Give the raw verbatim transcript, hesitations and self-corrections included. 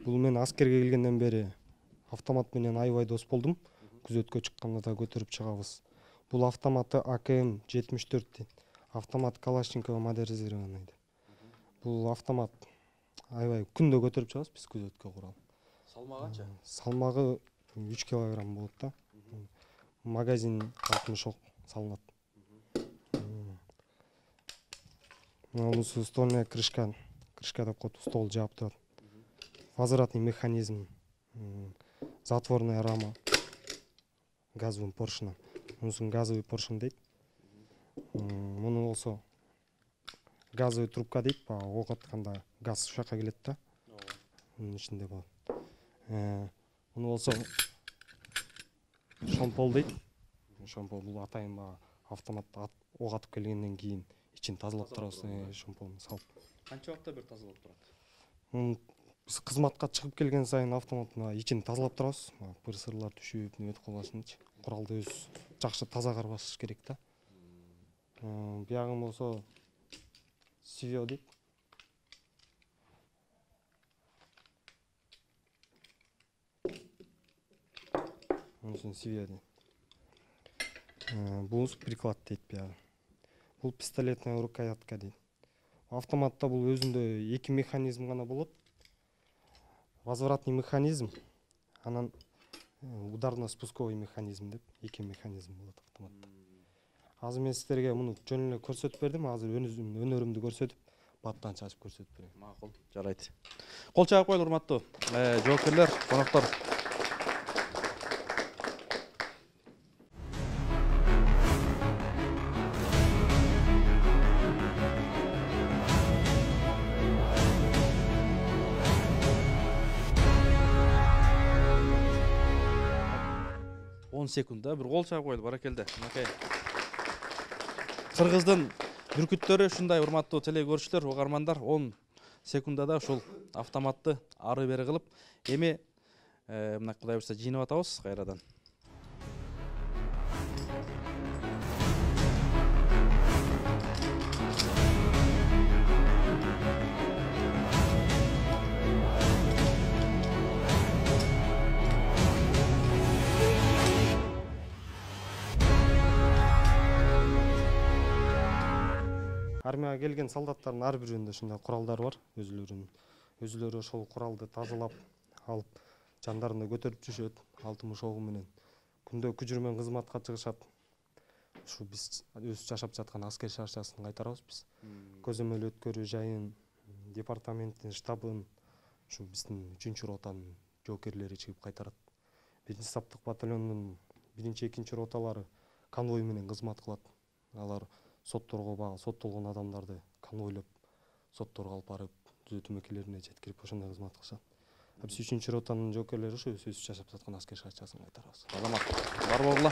Бул мен аскерге келгенден бери автомат менен аябай дос болдум. Күзөткө чыкканда да көтөрүп чыгабыз. Бул автоматы А К М жетимиш төрт дейт. Автомат Калашникова модернизированный деп. Бул автомат аябай күндө көтөрүп чыгабыз биз күзөткө курал. Салмагы канча? Салмагы үч килограмм болот да. Магазин алтымыш ок салынат. Мунусу стольная крышка, крышка деп коет, стол жаап турат. Возвратный механизм, затворная рама газовый поршень. Мунусун газовый поршень дейт. Муну болсо газовый трубка дейт, баягы ок атканда газ ушул жака келет да. Мунун ичинде болот. Муну болсо шомпол дейт. Шомпол бул атайын баягы автоматта ок атып келгенден кийин ичин тазалап турабыз, шомполду салып. Канча убакытта бир тазалап турат? Биз кызматка чыгып келген сайын автоматтын ичин тазалап турабыз. Пыр-сырлар түшүп, неметип калбашынчы. Куралды өз жакшы таза карбаш керек да. Биягы болсо Сивио дейт. Мунусун Сивио дейт. Бул приклад дейт биягы. Бул пистолетная рукоятка дейт. Автоматта бул өзүндө эки механизм гана болот. Возвратный механизм, анан ударно-спусковой механизм деп эки механизм болот автоматта. Азыр мен сиздерге муну жөн эле көрсөтүп бердим. Азыр өнөрүмдү көрсөтүп, баттан чачып көрсөтүп берем. Макул, жарайт. Кол чаап коелу, урматтуу жоокерлер, коноктор. он секундда бир кол чаап коелу, баракелде. Макай. Кыргыздын бүркүттөрү ушундай, урматтуу теле көрүүчүлөр, угармандар, он секундада ушул автоматты ары бери кылып, эми мына Кудай буйрса жыйнап атабыз кайрадан. Армияга келген солдаттардын ар биринде ушундай куралдар бар, өзүлөрүнүн. Өзүлөрү ошол куралды тазалап алып, жандарында көтөрүп жүрүшөт, алтымыш огу менен. Күндө күжүрмөн кызматка чыгышат. Ушу биз өз жашап жаткан аскер шарчасын кайтарабыз биз. Көзөмөл өткөрүү жайын, департаменттин штабын, ушу биздин үчүнчү ротанын жоокерлери чыгып кайтарат. Биринчи саптык батальондун биринчи, экинчи роталары конвой менен кызмат кылат. Алар сотторго багы соттолгон адамдарды конвойлоп, сотторго алып барып, түзөтүү мекемелерине жеткирип ошондой кызмат кылышат. Биз үчүнчү ротанын жоокерлери ушу өз жашап жаткан аскер шарчасын кайтарабыз. Азамат, бар болгула.